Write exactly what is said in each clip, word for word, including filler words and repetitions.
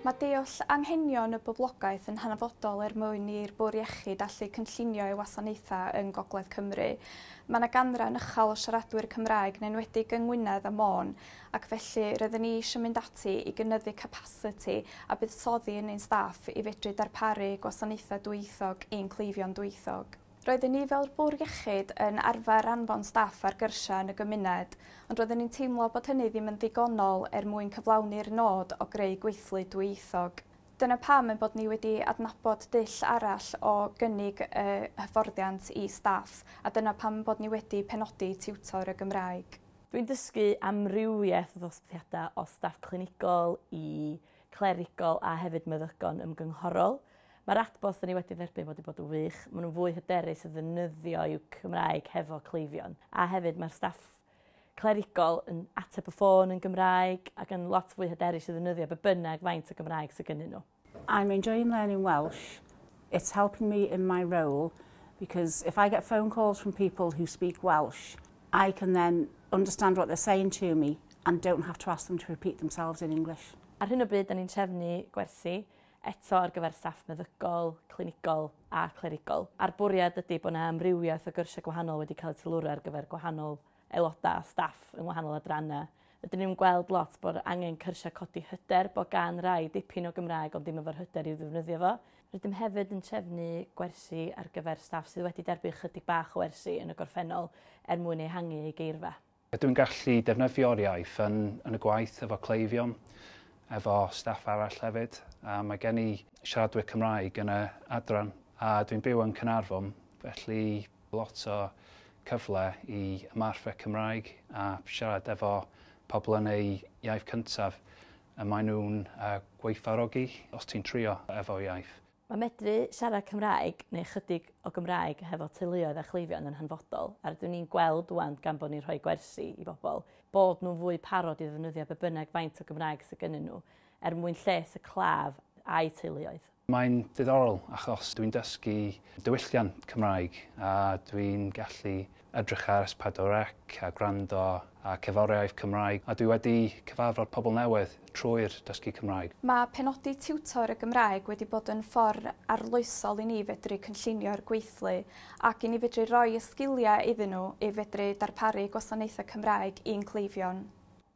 Mae deall anghenion y boblogaeth yn hanfodol er mwyn i'r Bwrdd Iechyd allu cynllunio ei wasanaethau yng Ngogledd Cymru. Mae yna ganran uchel o siaradwyr Cymraeg, yn enwedig yng Ngwynedd a Môn, ac felly rydyn ni eisiau mynd ati i gynyddu capasiti a buddsoddi yn ein staff i fedru darparu gwasanaethau dwyieithog i'n cleifion dwyieithog. Roedden ni fel Bwrdd Iechyd yn arfer anfon staff ar gyrsiau yn y gymuned, ond roedden ni'n teimlo bod hynny ddim yn ddigonol er mwyn cyflawni'r nod o greu gweithlu dwyieithog. Dyna pam ein bod ni wedi adnabod dull arall o gynnig y hyfforddiant i staff, a dyna pam bod ni wedi penodi tiwtor y Gymraeg. Dwi'n dysgu amrywiaeth o ddosbarthiadau o staff clinigol i clerigol a hefyd meddygon ymgynghorol. Mae'r adborth ni wedi dderbyn wedi bod yn wych. Maen nhw'n fwy hyderus i ddefnyddio i'w Cymraeg hefo cleifion. A hefyd mae'r staff clerigol yn ateb y ffôn yn Gymraeg ac yn lot fwy hyderus i ddefnyddio be bynnag faint o Gymraeg sydd gennyn nhw. I'm enjoying learning Welsh. It's helping me in my role because if I get phone calls from people who speak Welsh, I can then understand what they're saying to me and don't have to ask them to repeat themselves in English. Ar hyn o bryd, da ni'n trefnu gwersi eto ar gyfer staff meddygol, clinigol a clerigol. A'r bwriad ydy bod yna amrywiaeth o gyrsiau gwahanol wedi cael eu teilwra ar gyfer gwahanol aelodau a staff yn wahanol adrannau. Rydyn ni'n gweld lot bod angen cyrsiau codi hyder, bod gan rai dipyn o Gymraeg ond ddim efo'r hyder i'w ddefnyddio fo. Rydym hefyd yn trefnu gwersi ar gyfer staff sydd wedi derbyn chydig bach o wersi yn y gorffennol er mwyn ehangu eu geirfa. Dwi'n gallu defnyddio'r iaith yn, yn y gwaith efo cleifion, efo staff arall hefyd. A mae gen i siaradwyr Cymraeg yn y adran a dwi'n byw yn Caernarfon, felly lot o cyfle i ymarfer Cymraeg a siarad efo pobl yn eu iaith cyntaf a maen nhw'n uh, gwerthfawrogi os ti'n trio efo iaith. Mae medru siarad Cymraeg neu chydig o Gymraeg hefo teuluoedd a chleifion yn hanfodol. A rydyn ni'n gweld wan gan bod ni'n rhoi gwersi i bobl, bod nhw'n fwy parod i ddefnyddio be bynnag faint o Gymraeg sydd gennyn nhw er mwyn lles y claf a'i teuluoedd. Mae'n diddorol achos dwi'n dysgu diwylliant Cymraeg a dwi'n gallu edrych ar S pedwar C a gwrando a cerddoriaeth Cymraeg a dwi wedi cyfarfod pobl newydd trwy'r dysgu Cymraeg. Mae penodi tiwtor y Gymraeg wedi bod yn ffordd arloesol i ni fedru cynllunio'r gweithlu ac i ni fedru roi y sgiliau iddyn nhw i fedru darparu gwasanaethau Cymraeg i'n cleifion.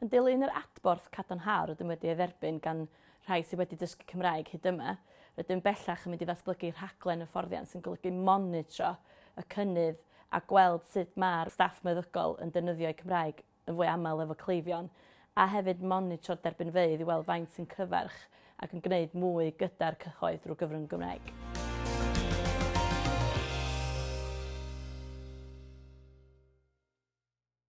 Yn dilyn yr adborth cadarnhaol rydym wedi ei dderbyn gan rhai sydd wedi dysgu Cymraeg hyd yma, rydym bellach yn mynd i ddatblygu rhaglen hyfforddiant sy'n golygu monitro y cynnydd a gweld sut mae'r staff meddygol yn defnyddio eu Cymraeg yn fwy aml efo cleifion, a hefyd monitro'r derbynfeydd i weld faint sy'n cyfarch ac yn gwneud mwy gyda'r cyhoedd drwy gyfrwng Gymraeg.